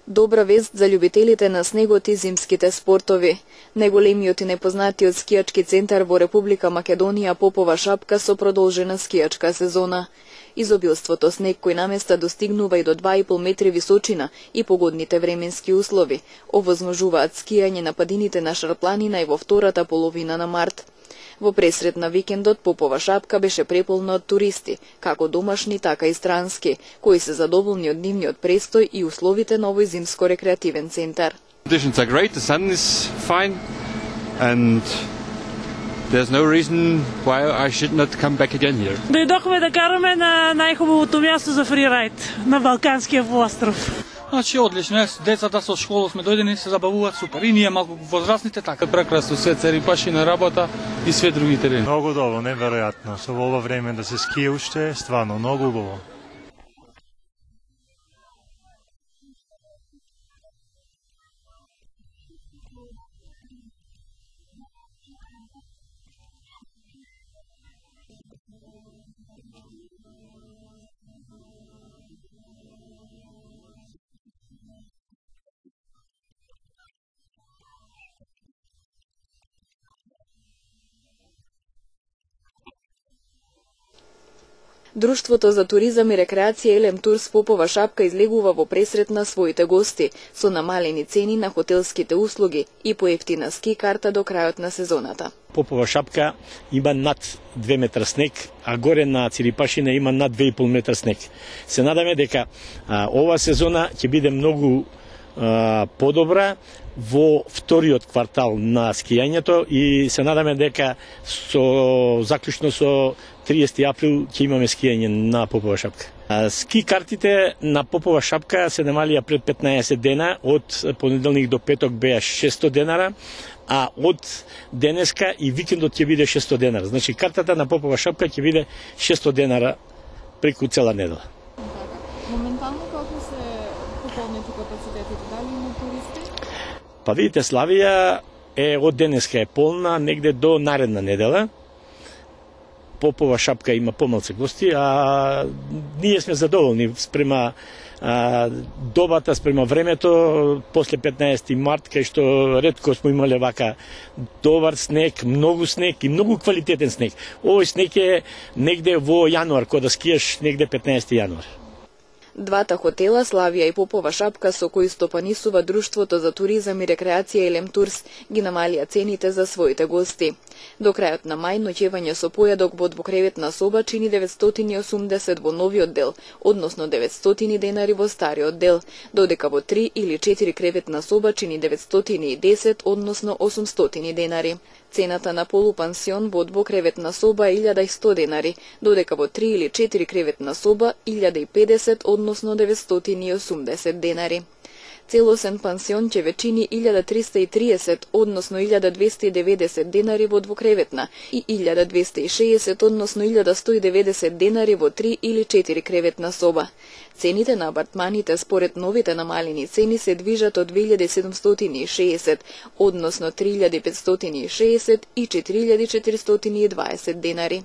Добра вест за љубителите на снегот и зимските спортови. Најголемиот и непознатиот скијачки центар во Република Македонија Попова шапка со продолжена скијачка сезона. Изобилството снег кој наместа достигнува и до 2,5 метри височина и погодните временски услови овозможуваат скијање на падините на Шарпланина и во втората половина на март. Во пресред на викендот Попова шапка беше преполна од туристи, како домашни, така и странски, кои се задоволни од нивниот престој и условите на овој зимско-рекреативен центар. Conditions are great, the sun is fine and there's no reason why I should not come back again here. Дојдохме да караме на најхубавото място за фрирајд, на Балканскиот полуостров. Значи одлично, децата со школа сме дојдени, се забавуваат супер. И ние малку возрастните така. Прекрасно, све церипаши на работа и све други терени. Многу добро, неверојатно. Со ова време да се ские уште, стварно многу убаво. Друштвото за туризам и рекреација Елем Турс Попова шапка излегува во пресрет на своите гости со намалени цени на хотелските услуги и поевтина ски карта до крајот на сезоната. Попова шапка има над 2 метра снег, а горе на Цирипашина има над 2,5 метра снег. Се надаме дека ова сезона ќе биде многу подобра во вториот квартал на скијањето и се надаме дека заклучно со 30 април ќе имаме скијање на Попова шапка. Ски картите на Попова шапка се намалија пред 15 дена, од понеделник до петок беа 600 денара, а од денеска и викендот ќе биде 600 денара. Значи картата на Попова шапка ќе биде 600 денара преку цела недела. Моментално како се пополнети капацитетите, дали има туристи? Па видите, Славија од денеска е полна негде до наредна недела. Попова шапка има помалку гости, а ние сме задоволни спрема добата, спрема времето, после 15 март, кај што ретко сме имале вака добар снег, многу снег и многу квалитетен снег. Овој снег е негде во јануар, кога да скиеш негде 15 јануар. Двата хотела, Славија и Попова шапка, со кои стопанисува Друштвото за туризам и рекреација Елем Турс, ги намалија цените за своите гости. До крајот на мај ноќевање со појадок во двокреветна соба чини 980 во новиот дел, односно 900 денари во стариот дел, додека во 3 или 4 креветна соба чини 910, односно 800 денари. Цената на полупансион во двокреветна соба е 1100 денари, додека во 3 или 4 креветна соба 1050, односно 980 денари. Целосен пансион ќе ве чини 1330, односно 1290 денари во двокреветна и 1260, односно 1190 денари во 3 или 4 креветна соба. Цените на апартманите според новите намалени цени се движат од 2760, односно 3560 и 4420 денари.